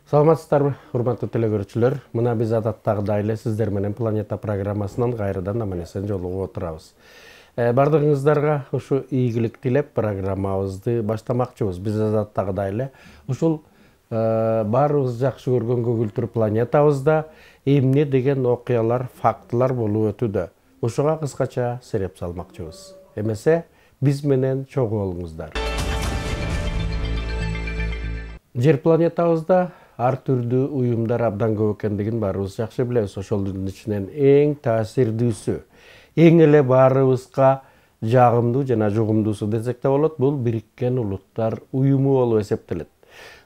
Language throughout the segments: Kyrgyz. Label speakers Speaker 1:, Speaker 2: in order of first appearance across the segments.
Speaker 1: Саламатсыздарбы, урматтуу телекөрүүчүлөр. Мына биз адаттагыдай эле сиздер менен Планета программасынан кайрадан аман-эсен жолугуп отурабыз. Бардыгыңыздарга ушу ийгилик тилеп программабызды баштамакчыбыз. Биз адаттагыдай эле ушул баарыбыз жакшы көргөн көгүлтүр планетабызда эмне деген окуялар, фактылар болуп өтүүдө. Ушуга кыскача сереп салмакчыбыз. Эмесе биз менен чогуу болуңуздар. Жер планетабызда ар түрдүү уюмдар абдан көп экендигин баарыбыз жакшы билебиз. Ошолдун ичинен эң таасирдүүсү, эң эле баарыбызга жагымдуу жана жугумдуусу десек да болот, бул Бириккен Улуттар уюму болуп эсептелет.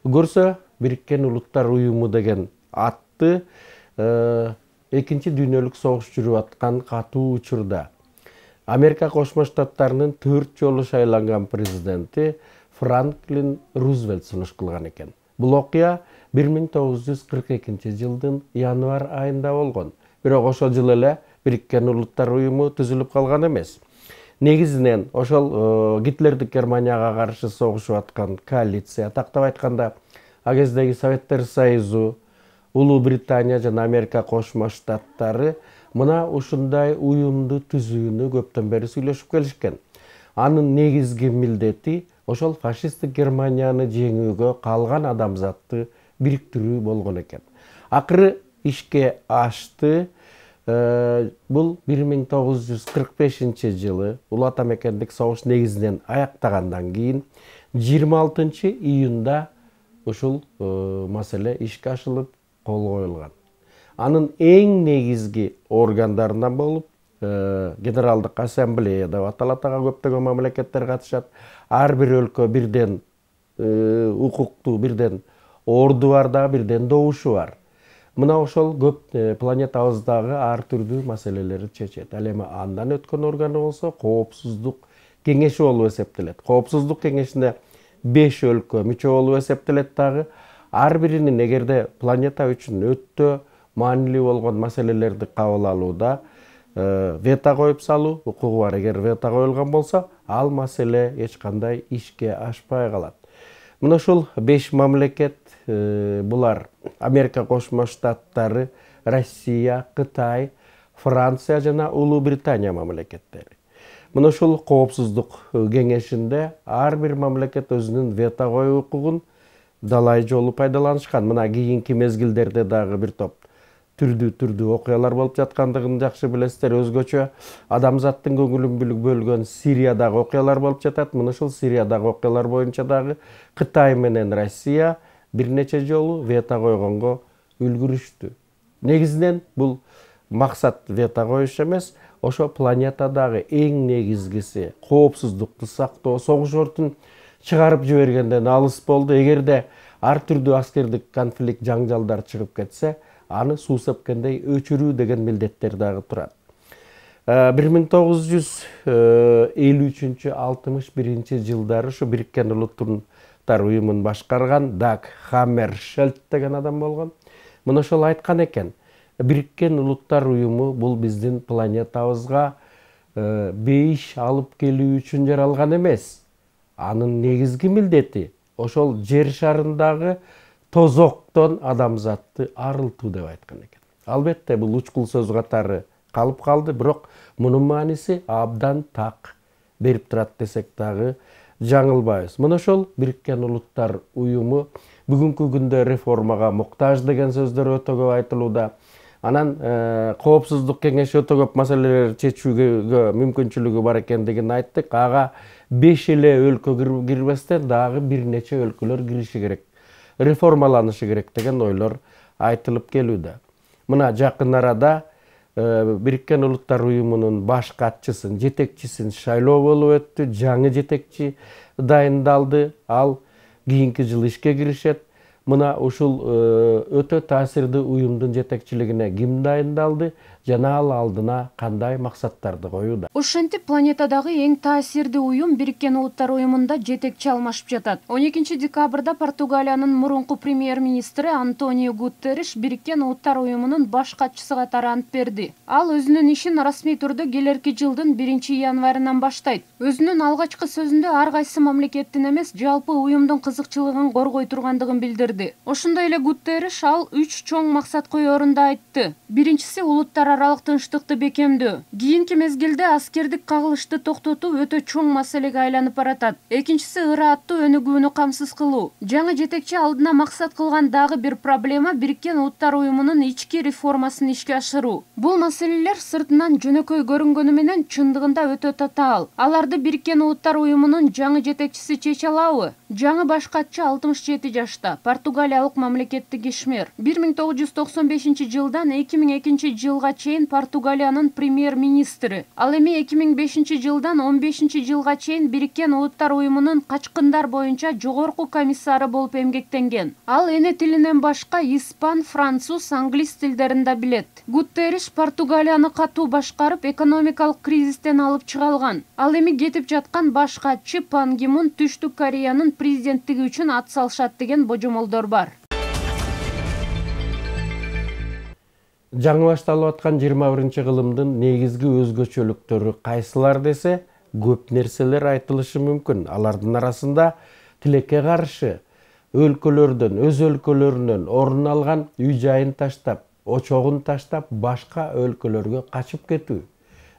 Speaker 1: Көрсө, Бириккен Улуттар уюму деген атты Экинчи дүйнөлүк согуш жүрүп аткан катуу учурда Америка Кошмо Штаттарынын 4 жолу шайланган президенти Франклин Рузвельт сунуш кылган экен. Бул окуя 1942-жылдын январь айында болгон. Бирок ошол жылы эле Бириккен Улуттар уюму түзүлүп калган эмес. Негизинен ошол Гитлердик Германияга каршы согушуп аткан коалиция, тактап айтканда, ал кездеги Советтер Союзу, Улуу Британия жана Америка Кошмо Штаттары мына ушундай уюмду түзүүнү көптөн бери сүйлөшүп келишкен. Анын негизги милдети ошол фашисттик Германияны жеңүүгө калган адамзатты бириктирүү болгон экен. Акыры ишке ашты. Бул 1945-жылы Улуу Ата Мекендик согуш негизинен аяктагандан кийин 26-июнда ушул маселе ишке ашылып кол коюлган. Анын эң негизги органдарынан болуп Генералдык ассамблея деп аталат, ага көптөгөн мамлекеттер катышат. Ар бир өлкө бирден укуктуу, бирден орду бар да, бирден добушу бар. Мына ошол көп планетабыздагы ар түрдүү маселелерди чечет. Ал эми андан өткөн органы болсо Коопсуздук кеңеши болуп эсептелет. Коопсуздук кеңешине 5 өлкө мүчө болуп эсептелет дагы. Ар биринин эгерде планета үчүн өтө маанилүү болгон маселелерди кабыл алууда вето коюп салуу укугу бар. Эгер вето коюлган болсо, ал маселе эч кандай ишке ашпай калат. Мына ушул 5 мамлекет булар: Америка Кошмо Штаттары, Россия, Кытай, Франция жана Улуу Британия мамлекеттери. Мына ушул Коопсуздук кеңешинде ар бир мамлекет өзүнүн вето коюу укугун далай жолу пайдаланышкан. Мына кийинки мезгилдерде дагы бир топ түрдүү окуялар болуп жаткандыгын жакшы билесиздер. Өзгөчө адамзаттын көңүлүн бөлгөн Сириядагы окуялар болуп жатат. Мына ушул Сириядагы окуялар боюнча дагы Кытай менен Россия бир нече жолу вето койгонго үлгүрүштү. Негизинен бул максат вето коюш эмес, ошо планетадагы эң негизгиси коопсуздукту сактоо. Согуш өртүн чыгарып жибергенден алыс болду. Эгерде ар түрдүү аскердик конфликт, жаңжалдар чыгып кетсе, аны суу сепкендей өчүрүү деген милдеттер дагы турат. 1953-61 жылдары ушу Бириккен Улуттар уюмун башкарган Даг Хаммершельд деген адам болгон. Мына ошол айткан экен: Бириккен Улуттар уюму бул биздин планетабызга бейиш алып келүү үчүн жаралган эмес. Анын негизги милдети ошол жер шарындагы тозоктон адамзатты арылтуу деп айткан экен. Албетте бул учкул сөз катары калып калды, бирок мунун мааниси абдан так берип турат десек дагы жаңылбайбыз. Мына ошол Бириккен Улуттар уюму бүгүнкү күндө реформага муктаж деген сөздөр өтө көп айтылууда. Анан Коопсуздук кеңеши өтө көп маселелерди чечүүгө мүмкүнчүлүгү бар экендигин айттык. Ага 5 эле өлкө кирбестен дагы бир нече өлкөлөр кириши керек, реформаланышы керек деген ойлор айтылып келүүдө. Мына жакын арада Бириккен Улуттар уюмунун баш катчысын, жетекчисин шайлоо болуп өттү. Жаңы жетекчи дайындалды. Ал кийинки жылы ишке киришет. Мына ушул өтө таасирдүү уюмдун жетекчилигине ким дайындалды? жана ал алдына кандай максаттарды коюуда.
Speaker 2: Ошентип планетадагы эң таасирдүү уюм Бириккен Улуттар уюмунда жетекчи алмашып жатат. 12 декабрда Португалиянын мурунку премьер-министри Антонио Гутерриш Бириккен Улуттар уюмунун баш катчысы катары ант берди. Ал өзүнүн ишин расмий түрдө келерки жылдын 1-январынан баштайт. Өзүнүн алгачкы сөзүндө ар кайсы мамлекеттин эмес, жалпы уюмдун кызыкчылыгын коргой тургандыгын билдирди. Ошондой эле Гутерриш ал 3 чоң максат коерун да айтты. Биринчиси улуттар аралык тынчтыкты бекемдөө. Кийинки мезгилде аскердик кагылышты токтотуу өтө чоң маселеге айланып баратат. Экинчиси ырааттуу өнүгүүнү камсыз кылуу. Жаңы жетекчи алдына максат кылган дагы бир проблема Бириккен Улуттар уюмунун ички реформасын ишке ашыруу. Бул маселелер сыртынан жөнөкөй көрүнгөнү менен чындыгында өтө татаал. Аларды Бириккен Улуттар уюмунун жаңы жетекчиси чече алабы? Жаңы баш катчы 67 жашта, португалиялык мамлекеттик ишмер. 1995 жылдан 2002 жылга чейин Португалиянын премьер-министри. Ал эми 2005 жылдан 15 жылга чейин Бириккен Улуттар уюмунун качкындар боюнча жогорку комиссары болуп эмгектенген. Ал эне тилинен башка испан, француз, англис тилдерин да билет. Гутерриш Португалияны катуу башкарып, экономикалык кризистен алып чыга алган. Ал эми кетип жаткан баш катчы Пан Ги Мун Түштүк Кореянын президенттиги үчүн ат салышат деген божомолдор бар.
Speaker 1: Жаңы башталып аткан 21-кылымдын негизги өзгөчөлүктөрү кайсылар десе, көп нерселер айтылышы мүмкүн. Алардын арасында тилекке каршы өлкөлөрдөн, өз өлкөлөрүнөн орун алган үй-жайын таштап, очогун таштап, башка өлкөлөргө качып кетүү,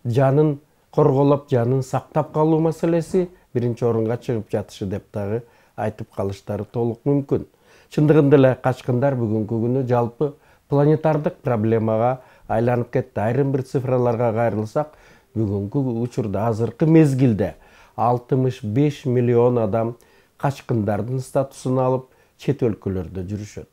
Speaker 1: жанын корголоп, жанын сактап калуу маселеси биринчи орунга чыгып жатышы деп дагы айтып калыштары толук мүмкүн. Чындыгында эле качкындар бүгүнкү күнү жалпы планетардык проблемага айланып кетти. Айрым бир цифраларга кайрылсак, бүгүнкү учурда азыркы мезгилде 65 миллион адам качкындардын статусун алып чет өлкөлөрдө жүрүшөт.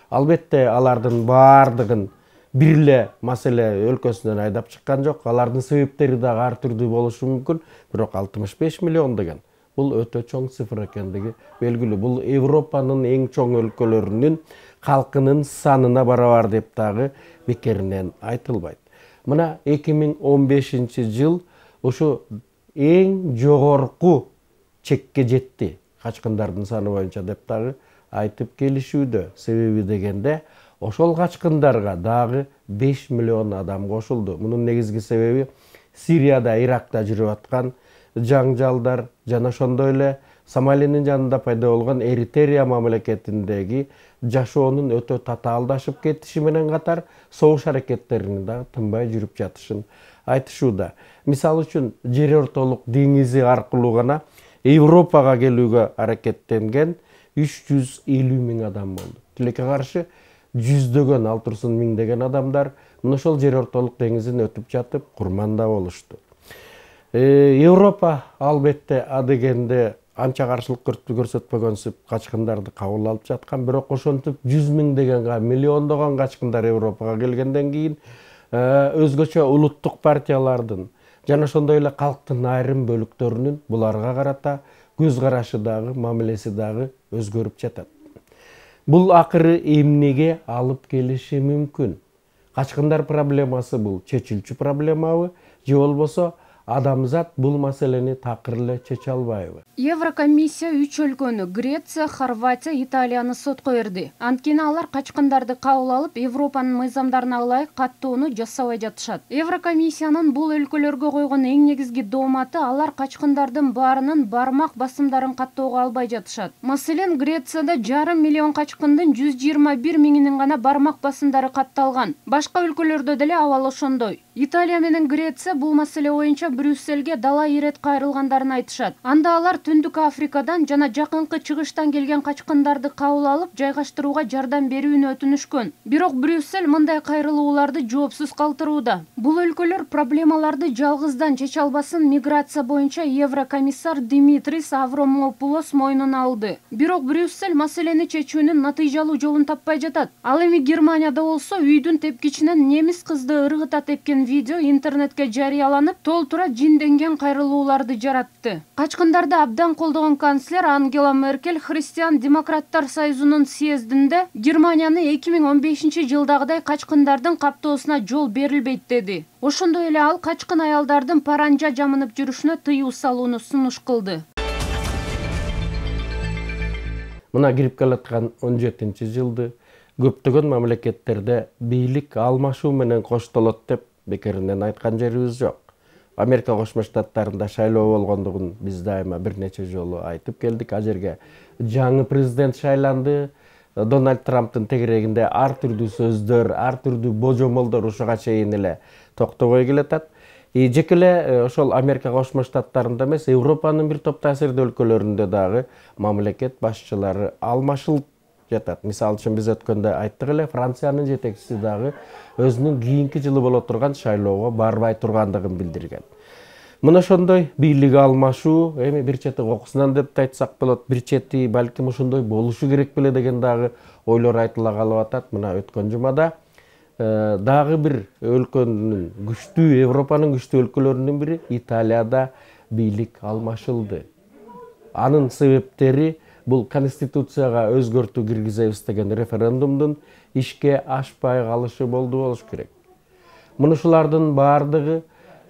Speaker 1: Албетте алардын баардыгын бир эле маселе өлкөсүнөн айдап чыккан жок. Алардын себептери дагы ар түрдүү болушу мүмкүн. Бирок 65 миллион деген бул өтө чоң цифр экендиги белгилүү. Бул Европанын эң чоң өлкөлөрүнүн калкынын санына барабар деп дагы бекеринен айтылбайт. Мына 2015 жыл ушу эң жогорку чекке жетти качкындардын саны боюнча деп дагы айтып келишүүдө. Себеби дегенде ошол качкындарга дагы 5 миллион адам кошулду. Мунун негизги себеби Сирияда, Иракта жүрүп аткан жаңжалдар жана ошондой эле Сомалинин жанында пайда болгон Эритрея мамлекетиндеги жашоонун өтө татаалдашып кетиши менен катар согуш аракеттеринин дагы тынбай жүрүп жатышын айтышууда. Мисалы үчүн, жер ортолук деңизи аркылуу гана Европага келүүгө аракеттенген 350 миң адам болду. Тилекке каршы жүздөгөн, ал турсун миңдеген адамдар мына ошол жер ортолук деңизин өтүп жатып курманда болушту. Европа албетте адегенде анча каршылык көрсөтпөгөнсүп качкындарды кабыл алып жаткан, бирок ошентип 100 миңдеген, миллиондогон качкындар Европага келгенден кийин өзгөчө улуттук партиялардын жана ошондой эле калктын айрым бөлүктөрүнүн буларга карата көз карашы дагы, мамилеси дагы өзгөрүп жатат. Бул акыры эмнеге алып келиши мүмкүн? Качкындар проблемасы бул чечилчү проблемабы, же болбосо адамзат бул маселени такыр эле чече албайбы?
Speaker 2: Еврокомиссия 3 өлкөнү Греция, Хорватия, Италияны сотко берди. Анткени алар качкындарды кабыл алып, Европанын мыйзамдарына ылайык каттоону жасабай жатышат. Еврокомиссиянын бул өлкөлөргө койгон эң негизги дооматы алар качкындардын баарынын бармак басымдарын каттоого албай жатышат. Маселен, Грецияда 5,5 миллион качкындын 121 миңинин гана бармак басымдары катталган. Башка өлкөлөрдө деле абал ошондой. Италия менен Греция бул маселе боюнча Брюссельге дала ирет кайрылгандарын айтышат. Анда алар Түндүк Африкадан жана жакынкы чыгыштан келген качкындарды кабыл алып, жайгаштырууга жардам берүүнү өтүнүшкөн. Бирок Брюссель мындай кайрылууларды жоопсуз калтырууда. Бул өлкөлөр проблемаларды жалгыздан чече албасын миграция боюнча Еврокомиссар Димитрис Аврамопулос мойнуна алды. Бирок Брюссель маселени чечүүнүн натыйжалуу жолун таппай жатат. Ал эми Германияда болсо үйдүн тепкичинен немис кызды ыргыта тепкен көрсөтүлгөн видео интернетке жарыяланып, толтура жинденген кайрылууларды жаратты. Качкындарды абдан колдогон канцлер Ангела Меркель Христиан-демократтар союзунун съездинде Германияны 2015-жылдагыдай качкындардын каптоосуна жол берилбейт деди. Ошондой эле ал качкын аялдардын паранжа жамынып жүрүшүнө тыюу салууну сунуш кылды.
Speaker 1: Мына кирип келаткан 17-жылды көптөгөн мамлекеттерде бийлик алмашуу менен коштолот деп бекеринен айткан жерибиз жок. Америка Кошмо Штаттарында шайлоо болгондугун биз дайыма бир нече жолу айтып келдик. А жерге жаңы президент шайланды. Дональд Трамптын тегерегинде ар түрдүү сөздөр, ар түрдүү божомолдор ушуга чейин эле токтобой келатат. Жеке эле ошол Америка Кошмо Штаттарында эмес, Европанын бир топ таасирдүү өлкөлөрүндө дагы мамлекет башчылары алмашылып жатат. Мисалы үчүн биз өткөндө айттык эле, Франциянын жетекчиси дагы өзүнүн кийинки жылы боло турган шайлоого барбай тургандыгын билдирген. Мына ошондой бийлик алмашуу, эми бир чети окусунан деп да айтсак болот, бир чети балким ошондой болушу керек беле деген дагы ойлор айтыла калып атат. Мына өткөн жумада дагы бир өлкөнүн күчтүү, Европанын күчтүү өлкөлөрүнүн бири Италияда бийлик алмашылды. Анын себептери бул конституцияга өзгөртүү киргизебиз деген референдумдун ишке ашпай калышы болуш керек. Мунушулардын баардыгы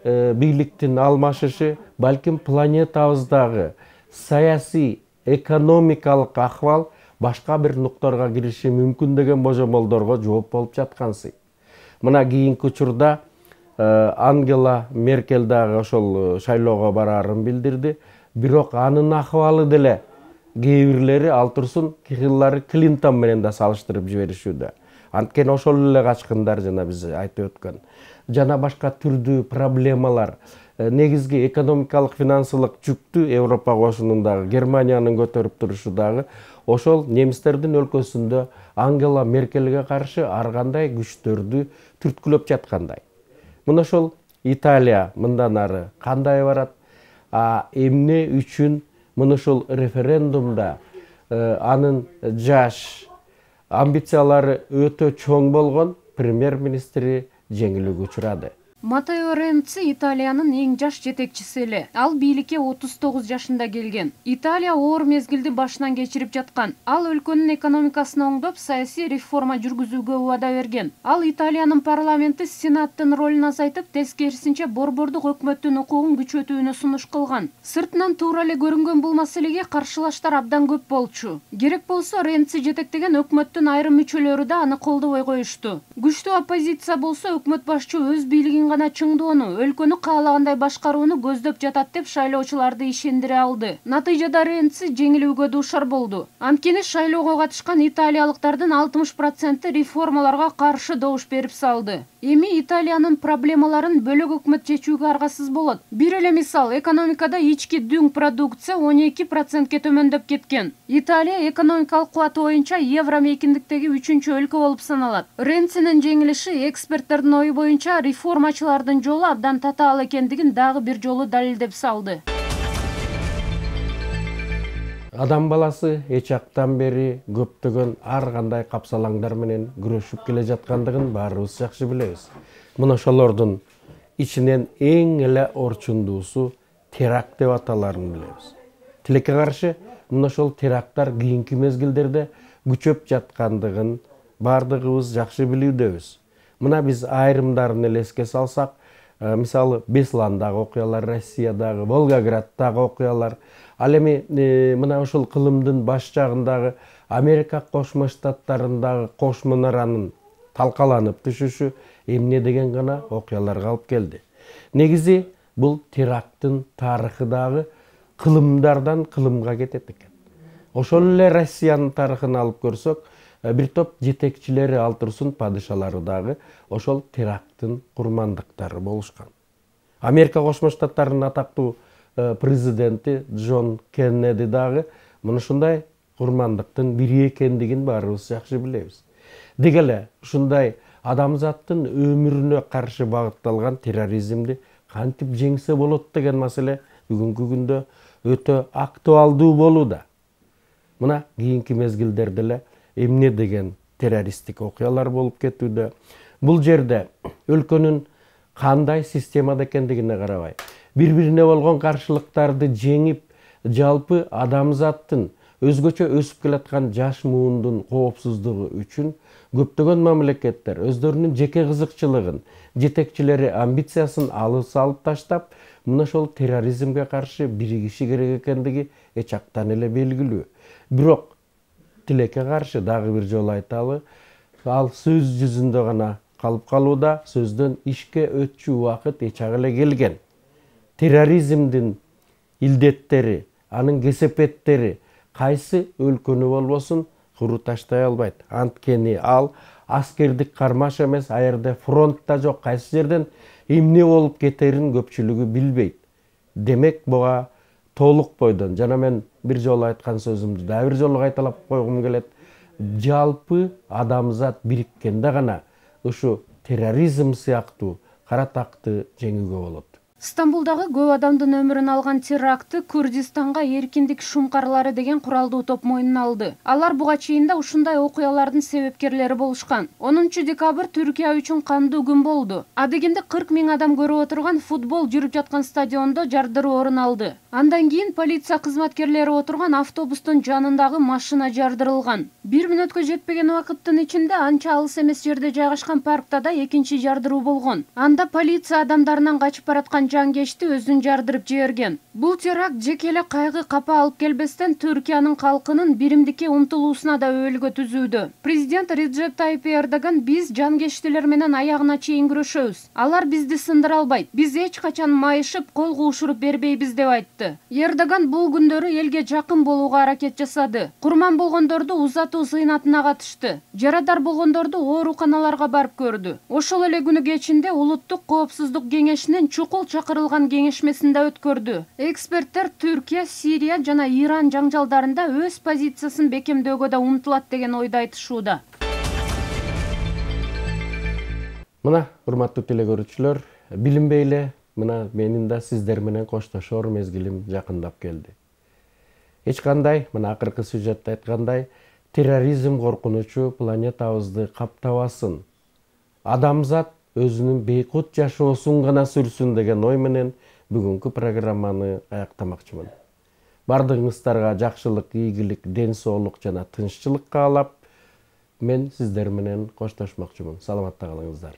Speaker 1: бийликтин алмашышы, балким планетабыздагы саясий, экономикалык акыбал башка бир нуктарга кириши мүмкүн деген божомолдорго жооп болуп жаткансый. Мына кийинки учурда Ангела Меркель дагы ошол шайлоого бараарын билдирди. Бирок анын акыбалы деле кээ бирлери ал турсун Хиллари Клинтон менен да салыштырып жиберишүүдө. Анткени ошол эле качкындар жана биз айтып өткөн жана башка түрдүү проблемалар, негизги экономикалык финансылык жүктү Европа кошунундагы Германиянын көтөрүп турушу дагы ошол немистердин өлкөсүндө Ангела Меркельге каршы ар кандай күчтөрдү түрткүлөп жаткандай. Мына ошол Италия мындан ары кандай барат? Эмне үчүн мына ошол референдумда анын жаш амбициялары өтө чоң болгон премьер-министри жеңилүүгө учурады.
Speaker 2: Матео Ренци Италиянын эң жаш жетекчиси эле. Ал бийликке 39 жашында келген. Италия оор мезгилди башынан кечирип жаткан. Ал өлкөнүн экономикасын оңдоп, саясий реформа жүргүзүүгө убада берген. Ал Италиянын парламенти Сенаттын ролун азайтып, тескерисинче борбордук өкмөттүн укугун күчөтүүнү сунуш кылган. Сыртынан туура эле көрүнгөн бул маселеге каршылаштар абдан көп болчу. Керек болсо Ренци жетектеген өкмөттүн айрым мүчөлөрү да аны колдобой коюшту. Күчтүү оппозиция болсо өкмөт башчы өз бийлигин гана чыңдоону, өлкөнү каалагандай башкарууну көздөп жатат деп шайлоочуларды ишендире алды. Натыйжада Ренци жеңилүүгө дуушар болду. Анткени шайлоого катышкан италиялыктардын 60% реформаларга каршы добуш берип салды. Эми Италиянын проблемаларын бөлөк өкмөт чечүүгө аргасыз болот. Бир эле мисал, экономикада ички дүң продукция 12%ке төмөндөп кеткен. Италия экономикалык кубаты боюнча евро мейкиндиктеги 3-чү өлкө болуп саналат. Ренцинин жеңилиши эксперттердин ою боюнча реформачылардын жолу абдан татаал экендигин дагы бир жолу далилдеп салды.
Speaker 1: Адам баласы эч актан бери көптөгөн ар кандай капсалаңдар менен күрөшүп келе жаткандыгын баарыбыз жакшы билебиз. Мына ошолордун ичинен эң эле орчундуусу теракт деп аталарын билебиз. Тилекке каршы мына ошол теракттар кийинки мезгилдерде күчөп жаткандыгын баардыгыбыз жакшы билүүдөбүз. Мына биз айрымдарын эле эске салсак, мисалы Бесландагы окуялар, Россиядагы, Волгограддагы окуялар, ал эми мына ошол кылымдын баш жагындагы Америка Кошмо Штаттарындагы кош мунаранын талкаланып түшүшү эмне деген гана окуяларга алып келди. Негизи бул теракттын тарыхы дагы кылымдардан кылымга кетет экен. Ошол эле Россиянын тарыхын алып көрсөк, бир топ жетекчилери ал турсун падышалары дагы ошол теракттын курмандыктары болушкан. Америка Кошмо Штаттарынын атактуу президенти Джон Кеннеди дагы мына ушундай курмандыктын бири экендигин баарыбыз жакшы билебиз. Деги эле ушундай адамзаттын өмүрүнө каршы багытталган терроризмди кантип жеңсе болот деген маселе бүгүнкү күндө өтө актуалдуу болууда. Мына кийинки мезгилдерде эле эмне деген террористтик окуялар болуп кетүүдө. Бул жерде өлкөнүн кандай системада экендигине карабай, бири-бирине болгон каршылыктарды жеңип, жалпы адамзаттын өзгөчө өсүп келаткан жаш муундун коопсуздугу үчүн көптөгөн мамлекеттер өздөрүнүн жеке кызыкчылыгын, жетекчилери амбициясын алып таштап, мына ошол терроризмге каршы биригиши керек экендиги эч актан эле белгилүү. Бирок тилекке каршы дагы бир жолу айталы, ал сөз жүзүндө гана калып калууда, сөздөн ишке өтчү убакыт эч эле келген. Терроризмдин илдеттери, анын кесепеттери кайсы өлкөнү болбосун куру таштай албайт. Анткени ал аскердик кармаш эмес, а жерде фронт да жок, кайсы жерден эмне болуп кетерин көпчүлүгү билбейт. Демек буга толук бойдон, жана мен бир жолу айткан сөзүмдү дагы бир жолу кайталап койгум келет. Жалпы адамзат бириккенде гана ушу терроризм сыяктуу каратакты жеңүүгө болот.
Speaker 2: Стамбулдагы көп адамдын өмүрүн алган терактты Курдистанга эркиндик шумкарлары деген куралдуу топ мойнуна алды. Алар буга чейин да ушундай окуялардын себепкерлери болушкан. 10 декабрь Түркия үчүн кандуу күн болду. Адегенде 40 000 адам көрүп отурган футбол жүрүп жаткан стадиондо жардыруу орун алды. Андан кийин полиция кызматкерлери отурган автобустун жанындагы машина жардырылган. 1 мүнөткө жетпеген убакыттын ичинде анча алыс эмес жерде жайгашкан паркта да экинчи жардыруу болгон. Анда полиция адамдарынан качып бараткан жангечти өзүн жардырып жиберген. Бул теракт жеке эле кайгы капа алып келбестен Түркиянын калкынын биримдикке умтулуусуна да өбөлгө түзүүдө. Президент Реджеп Тайип Эрдоган: биз жангечтилер менен аягына чейин күрөшөбүз. Алар бизди сындыра албайт. Биз эч качан майышып, кол куушуруп бербейбиз деп айтты. Эрдоган бул күндөрү элге жакын болууга аракет жасады. Курман болгондорду узатуу зыйнатына катышты. Жарадар болгондорду ооруканаларга барып көрдү. Ошол эле күнү кечинде Улуттук коопсуздук кеңешинин чукул чакырылган кеңешмесинде өткөрдү. Эксперттер Түркия, Сирия жана Иран жаңжалдарында өз позициясын бекемдөөгө да умтулат деген ойду айтышууда.
Speaker 1: Мына, урматтуу телекөрүүчүлөр, билинбей эле мына менин да сиздер менен коштошор мезгилим жакындап келди. Эч кандай, мына акыркы сюжетте айткандай, терроризм коркунучу планетабызды каптабасын. Адамзат өзүнүн бейкут жашоосун гана сүрсүн деген ой менен бүгүнкү программаны аяктамакчымын. Бардыгыңыздарга жакшылык, ийгилик, ден соолук жана тынччылык каалап, мен сиздер менен коштошмокчумун. Саламатта калыңыздар.